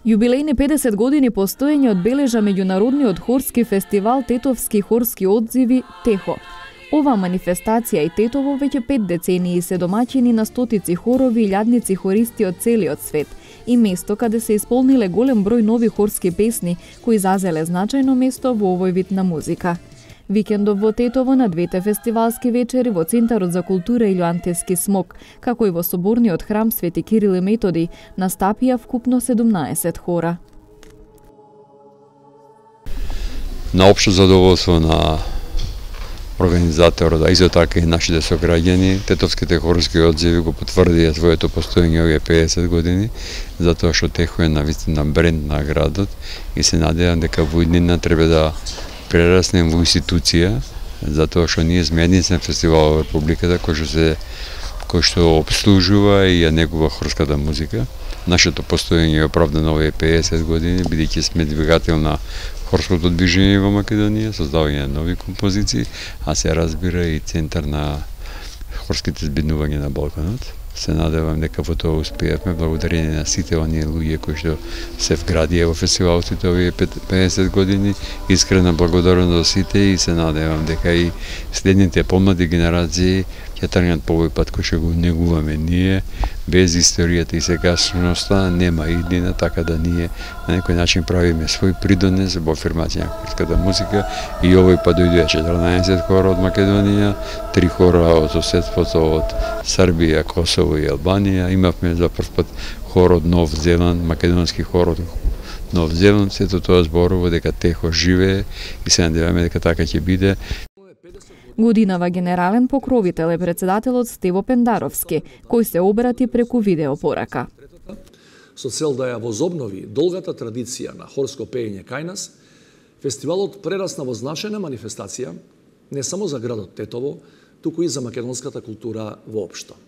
Јубилејни 50 години постоење одбележа меѓународниот хорски фестивал Тетовски хорски одзиви ТЕХО. Оваа манифестација и Тетово веќе 5 децении се домаќини на стотици хорови и илјадници хористи од целиот свет и место каде се исполниле голем број нови хорски песни кои зазеле значајно место во овој вид на музика. Викендов во Тетово на двете фестивалски вечери во Центарот за култура Илјоантески смок, како и во соборниот храм Свети Кирил и Методи, настапија вкупно 17 хора. На општо задоволство на организаторот, а исто така и нашите сограѓани, Тетовските хорски одзиви го потврдија своето постоење овие 50 години, затоа што ТЕХО е навистина бренд на градот и се надевам дека во иднина треба да прераснем во институција, затоа што ние сме единствен фестивал во Републиката кој што обслужува и ја негува хорската музика. Нашето постоење е оправдано овие 50 години, бидејќи сме двигател на хорското движење во Македонија, создавање на нови композиции, а се разбира и центар на хорските збиднувања на Балканот. Се надевам дека во тоа успеавме благодарение на сите оние луѓе кои што се вградија во фестивалот овие 50 години. Искрена благодарност до сите и се надевам дека и следните помлади генерации ќе тргнат по овој пат кој што го негуваме ние. Без историјата и сегашноста нема иднина, така да ние на некој начин правиме свој придонес во афирмација на хорската музика и овој пат дојдоа 14 хора од Македонија, 3 хора од соседството од Србија, Косово и Албанија. Имавме за прв пат хор од Нов Зеланд, македонски хор од Нов Зеланд. Сето тоа зборува дека ТЕХО живее и се надеваме дека така ќе биде. Годинава генерален покровител е председателот Стево Пендаровски, кој се обрати преку видеопорака. Со цел да ја возобнови долгата традиција на хорско пеење кај нас, фестивалот прерасна во значајна манифестација не само за градот Тетово, туку и за македонската култура воопшто.